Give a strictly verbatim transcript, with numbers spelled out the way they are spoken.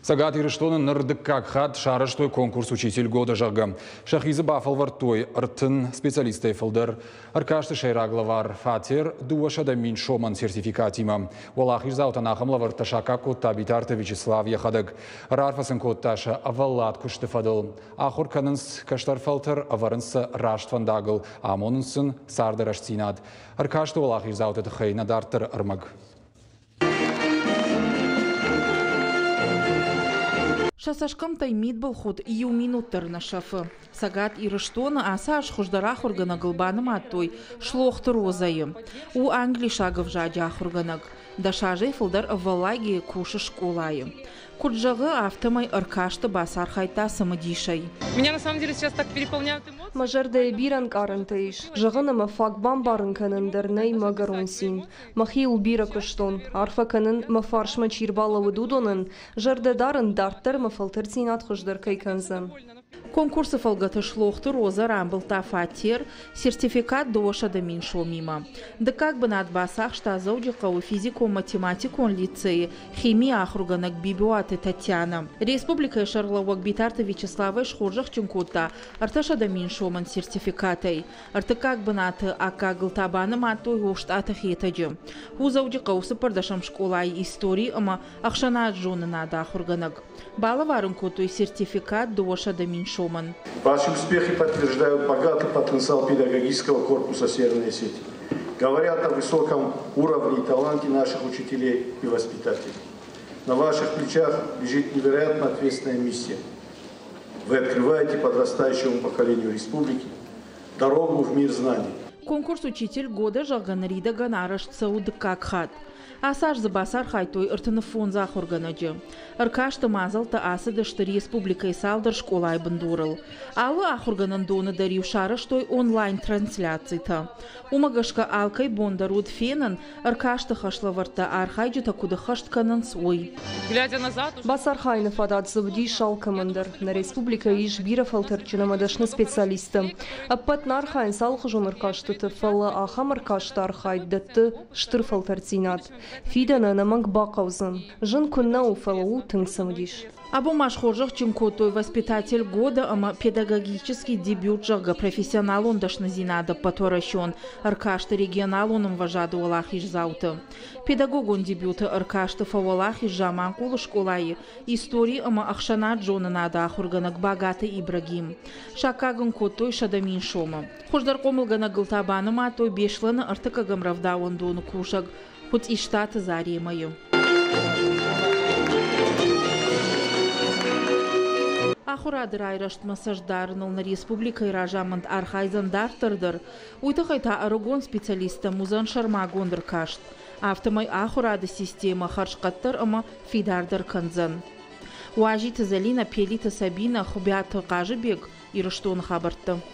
Цӕгат Ирыстоны ныр дыккаг хатт сарӕзтой конкурс «Учитель года», зӕгъгӕ. Сӕхи дзы бафӕлвӕрдтой ӕртын специалистӕй фылдӕр. Ӕркасты сӕйраг лӕвар фатер дыууӕсӕдӕ мин сомӕн сертификатимӕ. Уӕлахиздзаутӕн ахӕм лӕвӕрттӕ саккаг кодта Битарты Вячеслав йӕхӕдӕг. Раарфӕ сын кодта сӕ ӕвӕллад куысты фӕдыл. Ахуыр кӕнынц кӕстӕр фӕлтӕр, ӕвӕрынц сӕ раст фӕндагыл, амонынц сын царды рӕстдзинад. Ӕркасты уӕлахиздзауты тыххӕй нӕ дарддӕры ӕрмӕг. Сӕ цӕсгӕмттӕй мидбылхудт иу минут дӕр нӕ сӕфы. Цӕгат Ирыстоны ацы аз хуыздӕр ахуыргӕнӕгыл банымадтой Слохты Розӕйы. У англисаг ӕвзаджы ахуыргӕнӕг. Дӕс азӕй фылдӕр ӕвӕллайгӕ кусы скъолайы. Куыд зӕгъы, афтӕмӕй ӕркасты бацархайдта цымыдисӕй. Меня на самом деле сейчас так переполняют эмоции. Мӕ зӕрдӕйы бирӕ ӕнкъарӕнтӕ ис. Зӕгъын ӕмӕ фаг бамбарын кӕнын дӕр нӕй мӕ ӕгӕрон цин. Мӕхиуыл бирӕ куыстон. Арфӕ кӕнын, мӕ фарсмӕ чи рбалӕууыд, уыдонӕн. Зӕрдӕ дарын, дарддӕр мӕ фӕлтӕрддзинад хуыздӕр кӕй кӕндзӕн. Конкурсы фӕлгӕты Слохты Роза рамбылдта фатер, сертификат дыууӕсӕдӕ мин сомимӕ. Дыккаг бынат бацахста Дзӕуджыхъӕуы физикон-математикон лицейы химийы ахуыргӕнӕг Бибиуаты Татьяна. Республикӕйы сӕргълӕууӕг Битарты Вячеславӕй схорзӕхджын кодта ӕртӕсӕдӕ мин сомӕн сертификатӕй. Ӕртыккаг бынаты аккагыл та банымадтой Остъаты Хетӕджы. У Дзӕуджыхъӕуы цыппӕрдӕсӕм скъолайы истори ӕмӕ ӕхсӕнадзонынады ахуыргӕнӕг. Балӕвар ын кодтой сертификат дыууӕсӕдӕ мин сомӕн. Ваши успехи подтверждают богатый потенциал педагогического корпуса Северной Осетии. Говорят о высоком уровне и таланте наших учителей и воспитателей. На ваших плечах лежит невероятно ответственная миссия. Вы открываете подрастающему поколению республики дорогу в мир знаний. Конкурс «Учитель года», зӕгъгӕ, ныридӕгӕн арӕзт цӕуы дыккаг хатт. Ацы аз дзы бацархайдтой ӕртын фондз ахуыргӕнӕджы. Ӕркасты мадзӕлттӕ ацыдысты республикӕйы цалдӕр скъолайы бындурыл. Алы ахуыргӕнӕндоны дӕр-иу сарӕзтой онлайн-трансляцитӕ. Уымӕ гӕсгӕ алкӕй бон дӕр уыд фенын, ӕркасты хӕслӕвӕрдтӕ архайджытӕ куыд ӕххӕст кӕнынц, уый. Глядя назад, уже Бацархайыны фадат дзы уыдис алкӕмӕн дӕр. Нӕ республикӕйы ис бирӕ фӕлтӕрдджын ӕмӕ дӕсны специалисттӕ. Ӕппӕт нӕ архайынц алыхуызон ӕркастыты, фӕлӕ ахӕм ӕркасты архайд дӕтты стыр фӕлтӕрддзинад. Фидӕны ӕнӕмӕнг бахъӕудзӕн. Зын куыннӕ у, фӕлӕ у тынг цымыдис. Абон ма схорзӕхджын кодтой «Воспитатель года» ӕмӕ «Педагогический дебют», зӕгъгӕ, профессионалон дӕсныдзинады ӕппӕтуӕрӕсеон ӕркасты регионалон ӕмвӕзады уӕлахиздзауты. Педагогон дебюты ӕркасты фӕуӕлахиз Заманхъулы скъолайы истори ӕмӕ ӕхсӕнадзонынады ахуыргӕнӕг Багаты Ибрагим. Саккаг ын кодтой сӕдӕ мин сомы. Хуыздӕр хъомылгӕнӕгыл та банымадтой Беслӕны ӕртыккӕгӕм рӕвдауӕндоны кусӕг Хуыцъистаты Заремӕйы. Ахуырады райрӕзтмӕ цӕст дарыныл нӕ республикӕйы разамынд архайдзӕн дарддӕр дӕр. Уый тыххӕй та ӕрыгон специалисттӕм уыдзӕн сӕрмагонд ӕркаст. Афтӕмӕй ахуырады системӕ хӕрзхъӕддӕр ӕмӕ фидардӕр кӕндзӕн. Уазиты Зӕлинӕ, Пелиты Сабина, Хуыбиаты Хъазыбег, Ирыстоны хабӕрттӕ.